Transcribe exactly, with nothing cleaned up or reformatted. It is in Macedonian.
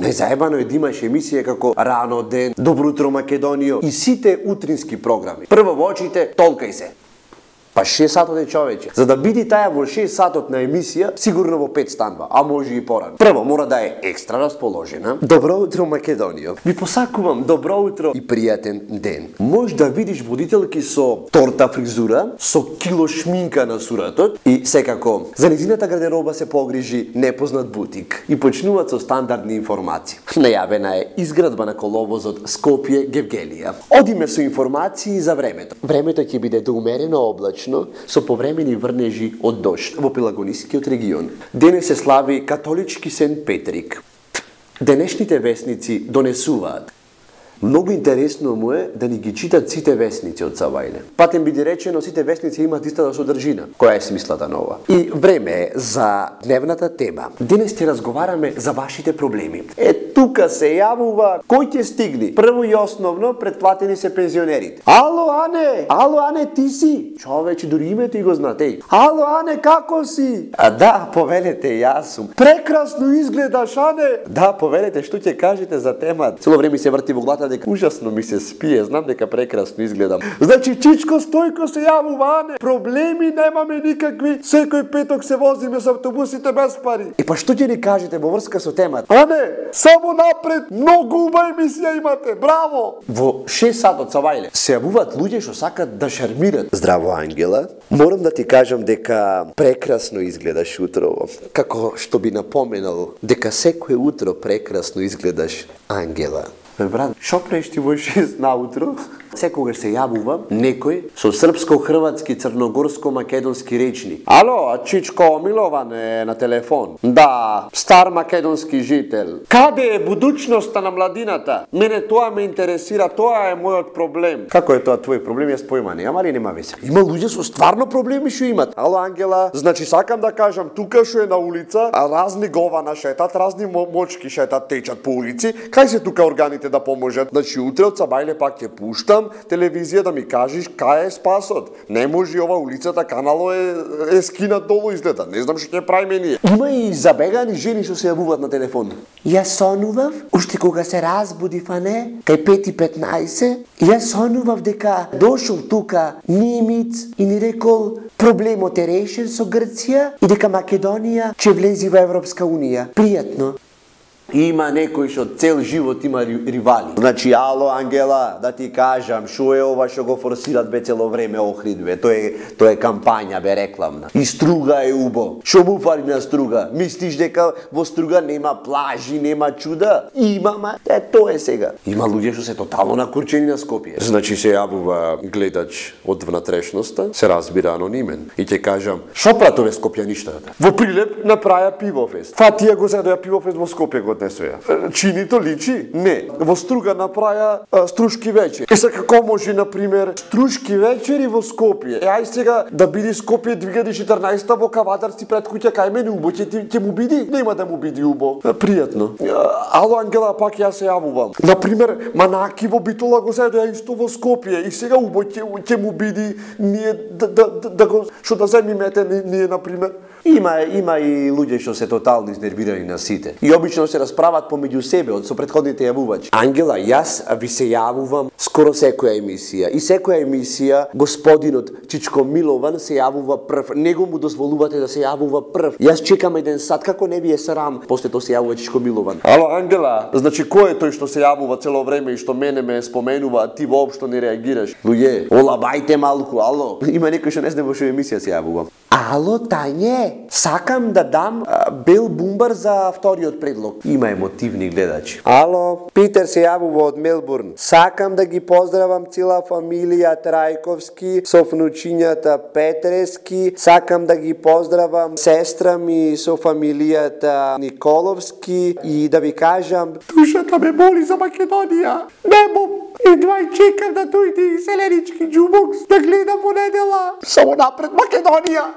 Најзаебано е да имаш емисија како Рано ден, Добро утро Македонијо и сите утрински програми. Прво во очите, толкај се. Па шест сатот е, човече. За да биде таја во шест сатот на емисија, сигурно во пет станва, а може и порано. Прво мора да е екстра расположена. Добро утро Македонијо. Ви посакувам добро утро и пријатен ден. Може да видиш водителки со торта фризура, со кило шминка на суратот и секако за низината гардероба се погрижи непознат бутик и почнуваат со стандардни информации. Најавена е изградба на коловозот Скопје-Гевгелија. Одиме со информации за времето. Времето ќе биде доумерено облачно со повремени врнежи од дожд во Пелагонискиот регион. Денес се слави католички Сент Петрик. Денешните весници донесуваат. Многу интересно му е да ни ги читат сите весници од Савајле. Патем биде речено, сите весници имаат истата содржина. Која е смислата на ова? И време е за дневната тема. Денес ќе разговараме за вашите проблеми. Е, тука се јавува кој ќе стигни. Прво и основно, претплатени се пензионерите. Ало, Ане! Ало, Ане, ти си? Човече, дури името и го знате. Ало, Ане, како си? А да, повелете, јас сум. Прекрасно изгледаш, Ане! Да, повелете, што ќе кажете за темата? Цело време се врти во главата дека ужасно ми се спие, знам дека прекрасно изгледам. Значи, Чичко Стојко се јавува, Ане. Проблеми немаме никакви. Секој петок се возиме со автобусите без пари. И па што ќе ни кажете во врска со темата? Ане, само напред, многу убава емисија имате. Браво! Во шест сатот Савајле се јавуваат луѓе што сакат да шармират. Здраво, Ангела. Морам да ти кажам дека прекрасно изгледаш утрово. Како што би напоменал дека секое утро прекрасно изгледаш, Ангела. Бе, брат, шо правиш ти во шест наутро? Секогаш се јавува некој со српско-хрватски, црногорско-македонски речник. Ало, Чичко Милован е на телефон. Да, стар македонски жител. Каде е будучноста на младината? Мене тоа ме интересира, тоа е мојот проблем. Како е тоа твој проблем? Јас појма не, ама ли нема везе? Има луѓе со стварно проблеми што имат. Ало, Ангела, значи сакам да кажам, тука што е на улица, а разни гована шетат, разни мочки шетат, течат по улици. Кај се тука органите да поможат? Значи утре од Сабајле пак ќе пуштам телевизија да ми кажеш кај е спасот. Не може ова улицата, канало е, е скинат долу изгледа. Не знам што ќе правиме ние. Има и забегани жени што се јавуваат на телефон. Јас сонував, уште кога се разбудив, а не, кај пет и петнаесет, јас сонував дека дошол тука немец и ни рекол проблемот е решен со Грција и дека Македонија ќе влези во Европска унија. Пријатно. Има некој што цел живот има ривали. Значи, ало, Ангела, да ти кажам, шо е ова што го форсират бе цело време Охрид, бе? Тоа е, тоа е кампања, бе, рекламна. И Струга е убо. Шо му фали на Струга? Мислиш дека во Струга нема плажи, нема чуда? Има, ма, е, тоа е сега. Има луѓе што се тотално накурчени на Скопје. Значи, се јавува гледач од внатрешноста, се разбира анонимен. И ќе кажам, шо пратове скопјаништата? Во Прилеп направија пивофест. Фатија го седоја пивофест во Скопје го однесоја. Чинито личи? Не. Во Струга направија а, струшки вечер. Е, сега како може, например, струшки вечери во Скопје? Е, ај сега да биде Скопје две илјади и четрнаесета во Кавадарци пред куќа кај мене убо, ќе, ќе му биди? Нема да му биди убо. Пријатно. Ало, Ангела, пак јас се јавувам. Например, Манаки во Битола го седоја исто во Скопје и сега убо ќе, ќе му биди ние да, да, да, да го што да земимете ние, например. Има, има и луѓе што се тотално изнервирани на сите. И обично се расправат помеѓу себе од со претходните јавувачи. Ангела, јас ви се јавувам скоро секоја емисија. И секоја емисија господинот Чичко Милован се јавува прв. Него му дозволувате да се јавува прв. Јас чекам еден сат, како не ви е срам, после тоа се јавува Чичко Милован. Ало, Ангела, значи кој е тој што се јавува цело време и што мене ме споменува, а ти воопшто не реагираш? Луѓе, олабајте малку, ало. Има некој што не знае во што емисија се јавува. Ало, Тање, сакам да дам а, бел бумбар за вториот предлог. Има емотивни гледачи. Ало, Питер се јавува од Мелбурн. Сакам да ги поздравам цела фамилија Трајковски со внучињата Петрески. Сакам да ги поздравам сестра ми со фамилијата Николовски и да ви кажам, душата ме боли за Македонија. Немо, едва и чекам да дојде селенички џубокс да гледам во недела. Само напред Македонија!